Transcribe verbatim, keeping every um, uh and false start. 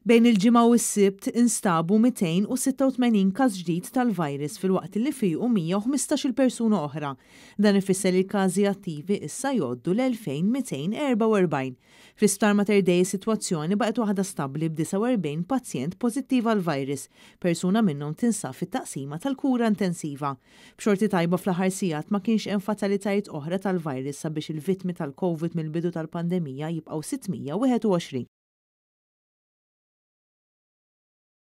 Bejn il-Ġimgħa u s-Sibt instabu mitejn u sitta u tmenin każ ġdid tal-virus, filwaqt li fiequ mija u ħmistax-il persuna oħra. Dan ifisser li l-każi attivi issa jgħoddu l-elfejn mitejn erbgħa u erbgħin. Fl-Isptar Mater Dei sitwazzjoni baqgħet waħda stabbli b'disgħa u erbgħin pazjent pożittiv għal-virus. Persuna minnhom tinsab fit-taqsima tal-kura intensiva. B'xorti tajba, fl-aħħar sigħat ma kienx hemm fatalitajiet oħra tal-virus, sabiex il-vittmi tal-COVID mill-bidu tal-pandemija jibqgħu sitt mija u wieħed u għoxrin.